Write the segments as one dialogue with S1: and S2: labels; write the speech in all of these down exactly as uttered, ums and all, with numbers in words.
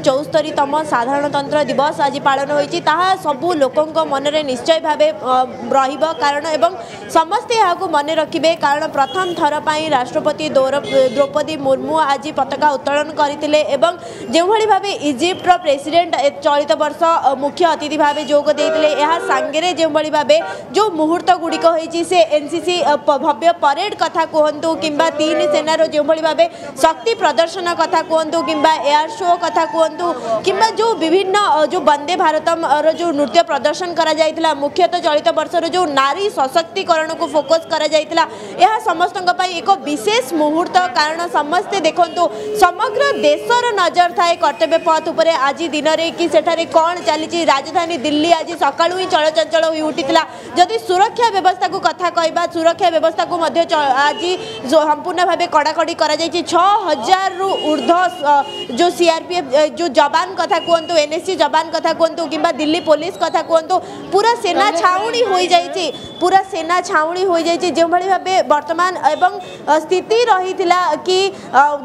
S1: ଚଉସ୍ତରୀତମ ସାଧାରଣତନ୍ତ୍ର ଦିବସ ଆଜି ପାଳନ ହୋଇଛି, ତାହା ସବୁ ଲୋକଙ୍କ ମନରେ ନିଶ୍ଚୟ ଭାବେ ରହିବ, କାରଣ ଏବଂ ସମସ୍ତେ ଏହାକୁ ମନେ ରଖିବେ, କାରଣ ପ୍ରଥମ ଥର ପାଇଁ ରାଷ୍ଟ୍ରପତି ଦ୍ରୌପଦୀ ମୁର୍ମୁ ଆଜି ପତାକା ଉତ୍ତୋଳନ କରିଥିଲେ। ଏବଂ ଯେଉଁଭଳି ଭାବେ ଇଜିପ୍ଟର ପ୍ରେସିଡେଣ୍ଟ ଚଳିତ ବର୍ଷ ମୁଖ୍ୟ ଅତିଥି ଭାବେ ଯୋଗ ଦେଇଥିଲେ, ଏହା ସାଙ୍ଗରେ ଯେଉଁଭଳି ଭାବେ ଯେଉଁ ମୁହୂର୍ତ୍ତ ଗୁଡ଼ିକ ହୋଇଛି, ସେ ଏନ୍ସିସି ଭବ୍ୟ ପରେଡ୍ କଥା କୁହନ୍ତୁ କିମ୍ବା ତିନି ସେନାର ଯେଉଁଭଳି ଭାବେ ଶକ୍ତି ପ୍ରଦର୍ଶନ କଥା କୁହନ୍ତୁ କିମ୍ବା ଏୟାର ଶୋ କଥା କୁହନ୍ତୁ କିମ୍ବା ଯେଉଁ ବିଭିନ୍ନ ଯେଉଁ ବନ୍ଦେ ଭାରତମର ଯେଉଁ ନୃତ୍ୟ ପ୍ରଦର୍ଶନ କରାଯାଇଥିଲା, ମୁଖ୍ୟତଃ ଚଳିତ ବର୍ଷର ଯେଉଁ ନାରୀ ସଶକ୍ତିକରଣକୁ ଫୋକସ୍ କରାଯାଇଥିଲା, ଏହା ସମସ୍ତଙ୍କ ପାଇଁ ଏକ ବିଶେଷ ମୁହୂର୍ତ୍ତ। କାରଣ ସମସ୍ତେ ଦେଖନ୍ତୁ, ସମଗ୍ର ଦେଶର ନଜର ଥାଏ କର୍ତ୍ତବ୍ୟ ପଥ ଉପରେ ଆଜି ଦିନରେ କି ସେଠାରେ କ'ଣ ଚାଲିଛି। ରାଜଧାନୀ ଦିଲ୍ଲୀ ଆଜି ସକାଳୁ ହିଁ ଚଳଚଞ୍ଚଳ ହୋଇ ଉଠିଥିଲା। ଯଦି ସୁରକ୍ଷା ବ୍ୟବସ୍ଥାକୁ କଥା କହିବା, ସୁରକ୍ଷା ବ୍ୟବସ୍ଥାକୁ ମଧ୍ୟ ଆଜି ସମ୍ପୂର୍ଣ୍ଣ ଭାବେ କଡ଼ାକଡ଼ି କରାଯାଇଛି। ଛଅ ହଜାରରୁ ଉର୍ଦ୍ଧ୍ୱ ଯେଉଁ ସିଆର୍ପିଏଫ୍ ଯେଉଁ ଯବାନ କଥା କୁହନ୍ତୁ, ଏନ୍ଏସ୍ସି ଯବାନ କଥା କୁହନ୍ତୁ କିମ୍ବା ଦିଲ୍ଲୀ ପୋଲିସ କଥା କୁହନ୍ତୁ, ପୁରା ସେନା ଛାଉଣି ହୋଇଯାଇଛି, ପୁରା ସେନା ଛାଉଣି ହୋଇଯାଇଛି। ଯେଉଁଭଳି ଭାବେ ବର୍ତ୍ତମାନ ଏବଂ ସ୍ଥିତି ରହିଥିଲା କି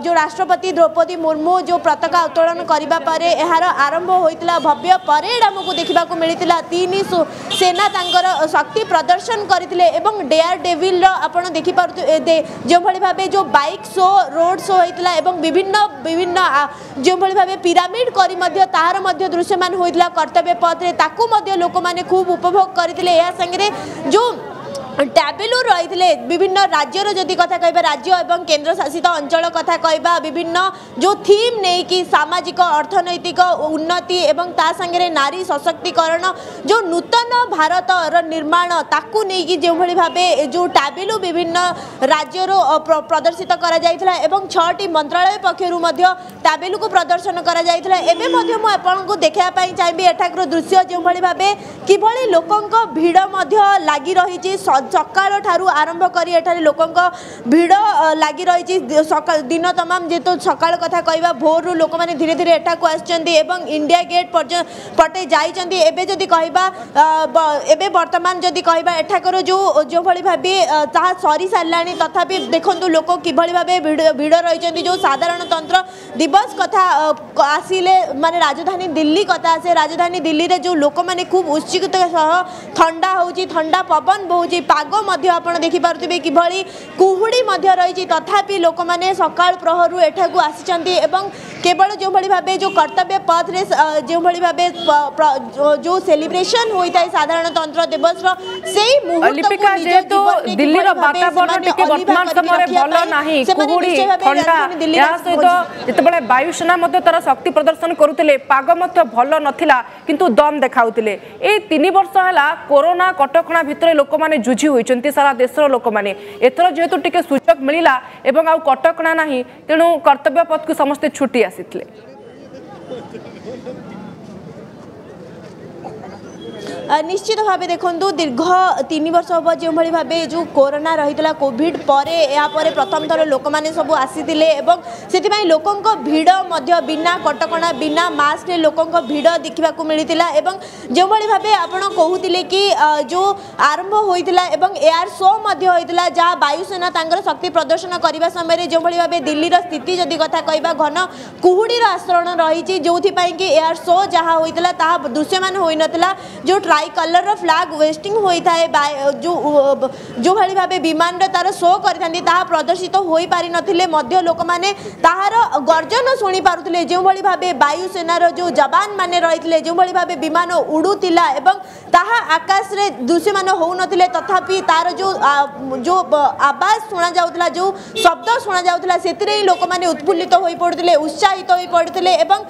S1: ଯେଉଁ ରାଷ୍ଟ୍ରପତି ଦ୍ରୌପଦୀ ମୁର୍ମୁ ଯେଉଁ ପତାକା ଉତ୍ତୋଳନ କରିବା ପରେ ଏହାର ଆରମ୍ଭ ହୋଇଥିଲା, ଭବ୍ୟ ପରେଡ୍ ଆମକୁ ଦେଖିବାକୁ ମିଳିଥିଲା। ତିନି ସେନା ତାଙ୍କର ଶକ୍ତି ପ୍ରଦର୍ଶନ କରିଥିଲେ ଏବଂ ଡେୟାର ଡେଭିଲର ଆପଣ ଦେଖିପାରୁଥିବେ ଯେଉଁଭଳି ଭାବେ ଯେଉଁ ବାଇକ୍ ଶୋ, ରୋଡ୍ ଶୋ ହୋଇଥିଲା ଏବଂ ବିଭିନ୍ନ ବିଭିନ୍ନ ଯେଉଁଭଳି ଭାବେ ପିରାମିଡ୍ କରି ମଧ୍ୟ ତାହାର ମଧ୍ୟ ଦୃଶ୍ୟମାନ ହୋଇଥିଲା କର୍ତ୍ତବ୍ୟ ପଥରେ, ତାକୁ ମଧ୍ୟ ଲୋକମାନେ ଖୁବ୍ ଉପଭୋଗ କରିଥିଲେ। ଏହା ସାଙ୍ଗରେ ଯେଉଁ ଟ୍ୟାବେଲୁ ରହିଥିଲେ ବିଭିନ୍ନ ରାଜ୍ୟର, ଯଦି କଥା କହିବା ରାଜ୍ୟ ଏବଂ କେନ୍ଦ୍ରଶାସିତ ଅଞ୍ଚଳ କଥା କହିବା, ବିଭିନ୍ନ ଯେଉଁ ଥିମ୍ ନେଇକି ସାମାଜିକ ଅର୍ଥନୈତିକ ଉନ୍ନତି ଏବଂ ତା ସାଙ୍ଗରେ ନାରୀ ସଶକ୍ତିକରଣ, ଯେଉଁ ନୂତନ ଭାରତର ନିର୍ମାଣ, ତାକୁ ନେଇକି ଯେଉଁଭଳି ଭାବେ ଯେଉଁ ଟ୍ୟାବେଲୁ ବିଭିନ୍ନ ରାଜ୍ୟରୁ ପ୍ରଦର୍ଶିତ କରାଯାଇଥିଲା ଏବଂ ଛଅଟି ମନ୍ତ୍ରାଳୟ ପକ୍ଷରୁ ମଧ୍ୟ ଟ୍ୟାବେଲୁକୁ ପ୍ରଦର୍ଶନ କରାଯାଇଥିଲା। ଏବେ ମଧ୍ୟ ମୁଁ ଆପଣଙ୍କୁ ଦେଖିବା ପାଇଁ ଚାହିଁବି ଏଠାକାର ଦୃଶ୍ୟ, ଯେଉଁଭଳି ଭାବେ କିଭଳି ଲୋକଙ୍କ ଭିଡ଼ ମଧ୍ୟ ଲାଗି ରହିଛି। ସକାଳ ଠାରୁ ଆରମ୍ଭ କରି ଏଠାରେ ଲୋକଙ୍କ ଭିଡ଼ ଲାଗି ରହିଛି ସକାଳ ଦିନ ତମାମ। ଯେହେତୁ ସକାଳ କଥା କହିବା, ଭୋରରୁ ଲୋକମାନେ ଧୀରେ ଧୀରେ ଏଠାକୁ ଆସିଛନ୍ତି ଏବଂ ଇଣ୍ଡିଆ ଗେଟ୍ ପର୍ଯ୍ୟନ୍ତ ପଟେ ଯାଇଛନ୍ତି। ଏବେ ଯଦି କହିବା, ଏବେ ବର୍ତ୍ତମାନ ଯଦି କହିବା ଏଠାକାର ଯେଉଁ ଯେଉଁଭଳି ଭାବେ ତାହା ସରି ସାରିଲାଣି, ତଥାପି ଦେଖନ୍ତୁ ଲୋକ କିଭଳି ଭାବେ ଭିଡ଼ ଭିଡ଼ ରହିଛନ୍ତି। ଯେଉଁ ସାଧାରଣତନ୍ତ୍ର ଦିବସ କଥା ଆସିଲେ ମାନେ ରାଜଧାନୀ ଦିଲ୍ଲୀ କଥା ଆସେ, ରାଜଧାନୀ ଦିଲ୍ଲୀରେ ଯେଉଁ ଲୋକମାନେ ଖୁବ୍ ଉତ୍ସୁକତା ସହ, ଥଣ୍ଡା ହେଉଛି, ଥଣ୍ଡା ପବନ ବହୁଛି, ପାଗ ମଧ୍ୟ ଆପଣ ଦେଖିପାରୁଥିବେ କିଭଳି କୁହୁଡ଼ି ମଧ୍ୟ ରହିଛି, ତଥାପି ଲୋକମାନେ ସକାଳ ପ୍ରହରରୁ ଏଠାକୁ ଆସିଛନ୍ତି। ଏବଂ କେବଳ ଯେଉଁଭଳି ଭାବେ ଯେଉଁ କର୍ତ୍ତବ୍ୟ ପଥରେ ଯେଉଁଭଳି ଭାବେ ଯେଉଁ ସେଲିବ୍ରେସନ ହୋଇଥାଏ ସାଧାରଣତନ୍ତ୍ର ଦିବସର ସେଇ ମୁହୂର୍ତ୍ତକୁ
S2: ଯେହେତୁ ଦିଲ୍ଲୀର ବାତାବରଣ ଟିକେ ବର୍ତ୍ତମାନ ସମୟରେ ଭଲ ନାହିଁ, କୁହୁଡ଼ି, ଥଣ୍ଡା, ଏହା ସହିତ ଯେତେବେଳେ ବାୟୁସେନା ମଧ୍ୟ ତାର ଶକ୍ତି ପ୍ରଦର୍ଶନ କରୁଥିଲେ, ପାଗ ମଧ୍ୟ ଭଲ ନଥିଲା, କିନ୍ତୁ ଦମ୍ ଦେଖାଉଥିଲେ। ଏଇ ତିନି ବର୍ଷ ହେଲା କୋରୋନା କଟକଣା ଭିତରେ ଲୋକମାନେ ଯୁଝି ହୋଇଛନ୍ତି, ସାରା ଦେଶର ଲୋକମାନେ। ଏଥର ଯେହେତୁ ଟିକେ ସୁଯୋଗ ମିଳିଲା ଏବଂ ଆଉ କଟକଣା ନାହିଁ, ତେଣୁ କର୍ତ୍ତବ୍ୟ ପଥକୁ ସମସ୍ତେ ଛୁଟି ଆସିଥିଲେ।
S1: ନିଶ୍ଚିତ ଭାବେ ଦେଖନ୍ତୁ, ଦୀର୍ଘ ତିନି ବର୍ଷ ହେବ ଯେଉଁଭଳି ଭାବେ ଯେଉଁ କରୋନା ରହିଥିଲା, କୋଭିଡ଼ ପରେ ଏହାପରେ ପ୍ରଥମ ଥର ଲୋକମାନେ ସବୁ ଆସିଥିଲେ ଏବଂ ସେଥିପାଇଁ ଲୋକଙ୍କ ଭିଡ଼ ମଧ୍ୟ ବିନା କଟକଣା, ବିନା ମାସ୍କରେ ଲୋକଙ୍କ ଭିଡ଼ ଦେଖିବାକୁ ମିଳିଥିଲା। ଏବଂ ଯେଉଁଭଳି ଭାବେ ଆପଣ କହୁଥିଲେ କି ଯେଉଁ ଆରମ୍ଭ ହୋଇଥିଲା ଏବଂ ଏୟାର ଶୋ ମଧ୍ୟ ହୋଇଥିଲା, ଯାହା ବାୟୁସେନା ତାଙ୍କର ଶକ୍ତି ପ୍ରଦର୍ଶନ କରିବା ସମୟରେ ଯେଉଁଭଳି ଭାବେ ଦିଲ୍ଲୀର ସ୍ଥିତି ଯଦି କଥା କହିବା, ଘନ କୁହୁଡ଼ିର ଆଶ୍ରଣ ରହିଛି, ଯେଉଁଥିପାଇଁ କି ଏୟାର ଶୋ ଯାହା ହୋଇଥିଲା ତାହା ଦୃଶ୍ୟମାନ ହୋଇନଥିଲା। ଯେଉଁ ଟ୍ରାଇ କଲର୍ର ଫ୍ଲାଗ୍ ୱେଷ୍ଟିଂ ହୋଇଥାଏ, ଯେଉଁ ଯେଉଁଭଳି ଭାବେ ବିମାନରେ ତାର ଶୋ କରିଥାନ୍ତି, ତାହା ପ୍ରଦର୍ଶିତ ହୋଇପାରିନଥିଲେ ମଧ୍ୟ ଲୋକମାନେ ତାହାର ଗର୍ଜନ ଶୁଣିପାରୁଥିଲେ। ଯେଉଁଭଳି ଭାବେ ବାୟୁସେନାର ଯେଉଁ ଯବାନ ମାନେ ରହିଥିଲେ, ଯେଉଁଭଳି ଭାବେ ବିମାନ ଉଡ଼ୁଥିଲା ଏବଂ ତାହା ଆକାଶରେ ଦୃଶ୍ୟମାନ ହେଉନଥିଲେ, ତଥାପି ତାର ଯେଉଁ ଯେଉଁ ଆବାଜ ଶୁଣାଯାଉଥିଲା, ଯେଉଁ ଶବ୍ଦ ଶୁଣାଯାଉଥିଲା, ସେଥିରେ ହିଁ ଲୋକମାନେ ଉତ୍ଫୁଲ୍ଲିତ ହୋଇପଡ଼ୁଥିଲେ, ଉତ୍ସାହିତ ହୋଇପଡ଼ୁଥିଲେ। ଏବଂ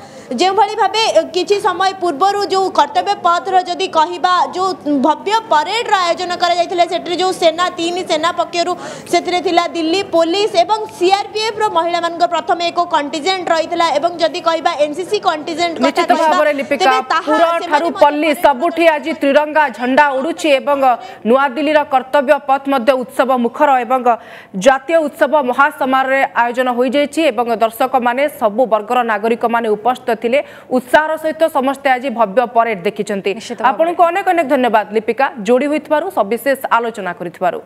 S1: ଯେଉଁଭଳି ଭାବେ କିଛି ସମୟ ପୂର୍ବରୁ ଯେଉଁ କର୍ତ୍ତବ୍ୟ ପଥର ଯଦି କହିବା, ଯେଉଁ ଭବ୍ୟ ପରେଡ୍ର ଆୟୋଜନ କରାଯାଇଥିଲା, ସେଠାରେ ଯେଉଁ ସେନା, ତିନି ସେନା ପକ୍ଷରୁ ସେଥିରେ ଥିଲା ଦିଲ୍ଲୀ ପୋଲିସ ଏବଂ ସିଆର୍ପିଏଫ୍ର ମହିଳାମାନଙ୍କ ପ୍ରଥମେ ଏକ କଣ୍ଟିଜେଣ୍ଟ ରହିଥିଲା ଏବଂ ଯଦି କହିବା ଏନସିସି କଣ୍ଟିଜେଣ୍ଟ କଥା
S2: ଠାରୁ ପଲ୍ଲୀ ସବୁଠି ଆଜି ତ୍ରିରଙ୍ଗା ଝଣ୍ଡା ଉଡୁଛି ଏବଂ ନୂଆଦିଲ୍ଲୀର କର୍ତ୍ତବ୍ୟ ପଥ ମଧ୍ୟ ଉତ୍ସବ ମୁଖର ଏବଂ ଜାତୀୟ ଉତ୍ସବ ମହାସମାରୋହରେ ଆୟୋଜନ ହୋଇଯାଇଛି ଏବଂ ଦର୍ଶକମାନେ, ସବୁ ବର୍ଗର ନାଗରିକମାନେ ଉପସ୍ଥିତ ଥିଲେ। ଉତ୍ସାହର ସହିତ ସମସ୍ତେ ଆଜି ଭବ୍ୟ ପରେଡ୍ ଦେଖିଛନ୍ତି। ଆପଣଙ୍କୁ ଅନେକ ଅନେକ ଧନ୍ୟବାଦ ଲିପିକା, ଯୋଡ଼ି ହୋଇଥିବାରୁ, ସବିଶେଷ ଆଲୋଚନା କରିଥିବାରୁ।